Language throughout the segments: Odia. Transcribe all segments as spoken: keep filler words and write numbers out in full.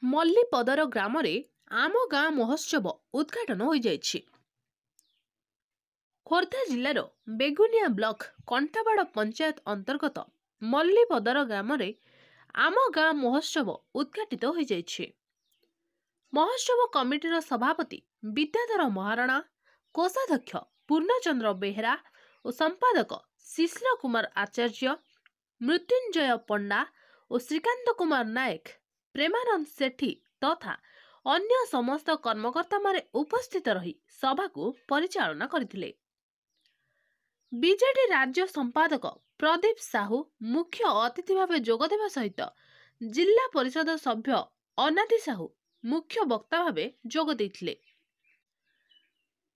ମଲ୍ଲିପଦର ଗ୍ରାମରେ ଆମ ଗାଁ ମହୋତ୍ସବ ଉଦ୍ଘାଟନ ହୋଇଯାଇଛି। ଖୋର୍ଦ୍ଧା ଜିଲ୍ଲାର ବେଗୁନିଆ ବ୍ଲକ କଣ୍ଟାବାଡ଼ ପଞ୍ଚାୟତ ଅନ୍ତର୍ଗତ ମଲ୍ଲିପଦର ଗ୍ରାମରେ ଆମ ଗାଁ ମହୋତ୍ସବ ଉଦ୍ଘାଟିତ ହୋଇଯାଇଛି। ମହୋତ୍ସବ କମିଟିର ସଭାପତି ବିଦ୍ୟାଧର ମହାରଣା, କୋଷାଧ୍ୟକ୍ଷ ପୂର୍ଣ୍ଣଚନ୍ଦ୍ର ବେହେରା ଓ ସମ୍ପାଦକ ଶିଶିର କୁମାର ଆଚାର୍ଯ୍ୟ, ମୃତ୍ୟୁଞ୍ଜୟ ପଣ୍ଡା ଓ ଶ୍ରୀକାନ୍ତ କୁମାର ନାୟକ, ପ୍ରେମାନନ୍ଦ ସେଠୀ ତଥା ଅନ୍ୟ ସମସ୍ତ କର୍ମକର୍ତ୍ତାମାନେ ଉପସ୍ଥିତ ରହି ସଭାକୁ ପରିଚାଳନା କରିଥିଲେ। ବିଜେଡି ରାଜ୍ୟ ସମ୍ପାଦକ ପ୍ରଦୀପ ସାହୁ ମୁଖ୍ୟ ଅତିଥି ଭାବେ ଯୋଗଦେବା ସହିତ ଜିଲ୍ଲା ପରିଷଦ ସଭ୍ୟ ଅନାଦି ସାହୁ ମୁଖ୍ୟ ବକ୍ତା ଭାବେ ଯୋଗ ଦେଇଥିଲେ।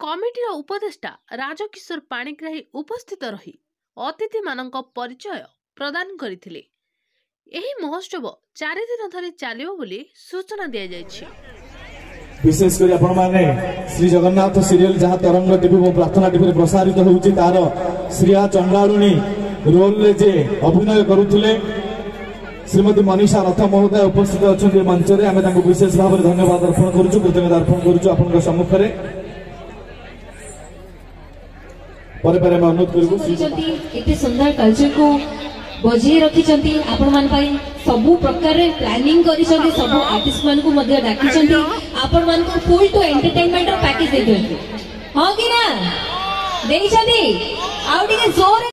କମିଟିର ଉପଦେଷ୍ଟା ରାଜକିଶୋର ପାଣିଗ୍ରାହୀ ଉପସ୍ଥିତ ରହି ଅତିଥିମାନଙ୍କ ପରିଚୟ ପ୍ରଦାନ କରିଥିଲେ। ଏହି ମହୋତ୍ସବ ଚାରିଦିନ ଧରି ଚାଲିବ ବୋଲି ସୂଚନା ଦିଆଯାଇଛି। ବିଶେଷ କରି ଆପଣମାନେ ଶ୍ରୀ ଜଗନ୍ନାଥ ସିରିଏଲ, ଯାହା ତରଙ୍ଗ ଟିଭି ଏବଂ ପ୍ରାର୍ଥନା ଟିଭିରେ ପ୍ରସାରିତ ହେଉଛି, ତାର ଶ୍ରୀୟା ଚଣ୍ଡାଳୁଣୀ ରୋଲରେ ଯେ ଅଭିନୟ କରୁଥିଲେ, ଶ୍ରୀମତୀ ମନୀଷା ରଥ ମହୋଦୟ ଉପସ୍ଥିତ ଅଛନ୍ତି ଏ ମଞ୍ଚରେ। ଆମେ ତାଙ୍କୁ ବିଶେଷ ଭାବରେ ଧନ୍ୟବାଦ ଅର୍ପଣ କରୁଛୁ, କୃତଜ୍ଞତା ଅର୍ପଣ କରୁଛୁ ଆପଣଙ୍କ ସମ୍ମୁଖରେ। ପରେ ପରେ ଆମେ ଅନୁରୋଧ କରିବୁ ଶ୍ରୀ କରିଛନ୍ତି, ଏତେ ସୁନ୍ଦର କଲଚରକୁ ବଜେଇ ରଖିଛନ୍ତି, ଆପଣମାନଙ୍କ ପାଇଁ ସବୁ ପ୍ରକାରରେ ପ୍ଲାନିଂ କରିଛନ୍ତି, ସବୁ ଆର୍ଟିଷ୍ଟ ମାନଙ୍କୁ ମଧ୍ୟ ଡାକିଛନ୍ତି, ଆପଣମାନଙ୍କୁ ଫୁଲ୍ ଟୁ ଏଣ୍ଟରଟେନମେଣ୍ଟର ପ୍ୟାକେଜ ଦେଇଛନ୍ତି। ହଁ କି ନା ଦେଇଛନ୍ତି? ଆଉ ଟିକେ ଜୋରେ।